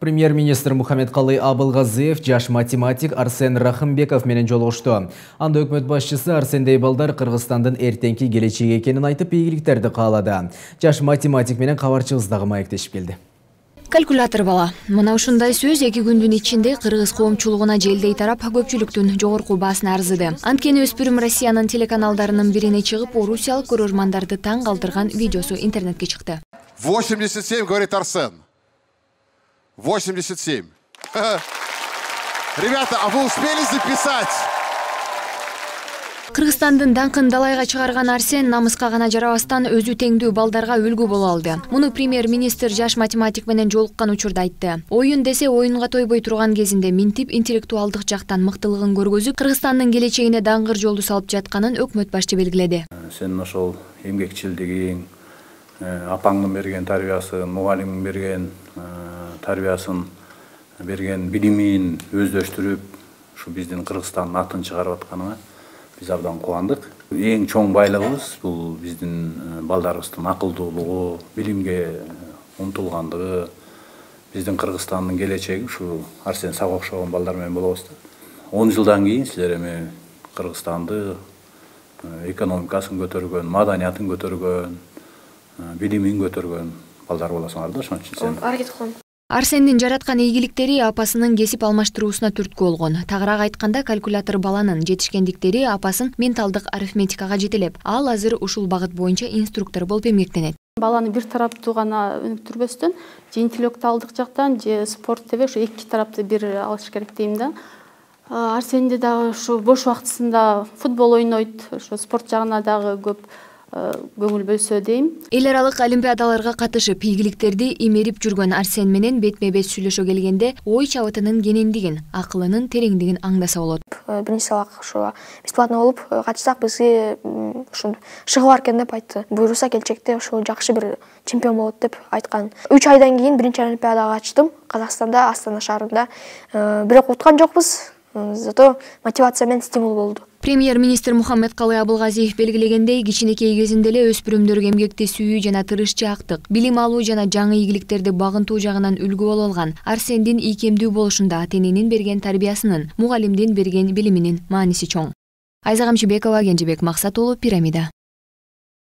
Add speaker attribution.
Speaker 1: Премьер-министр Мухаммедкалый Абылгазиев жаш математик Арсен Рахымбеков менен жолугушту. Анда өкмөт башчысы Арсендей балдар Кыргызстандын эртеңки келечеги экенин айтып, ийгиликтерди каалады. Жаш математик менен кабарчыбыз дагы маектешип келди.
Speaker 2: Калькулятор бала. Мына ушундай сөз 2 күндүн ичинде кыргыз коомчулугуна желдей тарап көпчүлүктүн жогорку баасына арзыды. Анткени өспүрүм Россиянын телеканалдарынын бирине чыгып, орусиялык көрөрмандарды таң калтырган видеосу интернетке чыкты.
Speaker 3: 87, говорит Арсен. 87. Ребята, а вы успели записать?
Speaker 2: Кыргызстандын даңкын далайга чыгарган Арсен намыска гана жарабастан өзү теңдүү балдарга үлгү боло алды. Муну премьер-министр жаш математик менен жолуккан учурда айтты. Оюн десе оюнга тойбой турган кезинде минтип интеллектуалдык жактан мыктылыгын көргөзүп, Кыргызстандын келечегине даңгыр жолду салып жатканын өкмөт башчы белгиледи.
Speaker 4: Сен ошол эмгекчилдигиң, апаңдын берген тарбиясын, мугалимиң берген тарбиясын берген билимин өздөштүрүп, ушу биздин Кыргызстандын атын чыгарып атканына биз абдан кубандык. Эң чоң байлыгыбыз бул биздин балдарыбыздын акылдуулугу, билимге умтулгандыгы, биздин Кыргызстандын келечеги ушу Арсен сага окшогон балдар менен болобуз да. 10 жылдан кийин силер эми Кыргызстанды экономикасын көтөргөн, маданиятын көтөргөн, билимин көтөргөн балдар болосуңар да, ошон үчүн сен
Speaker 5: аракет кылам.
Speaker 2: Арсендин жараткан ийгиликтери апасынын кесип алмаштыруусуна түрткү болгон. Тагыраак айтканда, калькулятор баланын жетишкендиктери апасын менталдык арифметикага жетелеп, ал азыр ушул багыт боюнча инструктор болуп эмгектенет.
Speaker 5: Баланы бир тараптуу гана өнүктүрбөстөн, же интеллектуалдык жактан, же спорт деп ушу эки тарапты бир алыш керек дейм да. Арсенде дагы ушу бош убактысында футбол ойнойт, ошо спорт жагына дагы көп көңүл бөлсө дейм.
Speaker 2: Эл аралык олимпиадаларга катышып, ийгиликтерди имерип жүргөн Арсен менен бетме-бет сүйлөшө келгенде ой чабытынын кенендигин, акылынын тереңдигин аңдаса болот.
Speaker 6: Биринчи сабак ушу бесплатно болуп катышсак бизге ушу шыгы бар экен деп айтты. Буюрса келечекте ушу жакшы бир чемпион болот деп айткан. 3 айдан кийин биринчи олимпиадага катыштым. Казакстанда, Астана шаарында. Бирок уткан жокпуз. Зато мотивация менен стимул болду.
Speaker 2: Премьер-министр Мухаммедкалый Абылгазиев белгилегендей, кичинекей кезинде эле өспүрүмдөргө эмгектесүү жана тырышчаактык, билим алуу жана жаңы ийгиликтерди багынтуу жагынан үлгү боло алган Арсендин ийкемдүү болушунда ата-эненин берген тарбиясынын, мугалимдин берген билиминин мааниси чоң. Айза Камчыбекова, Кенжебек Максат уулу, Пирамида.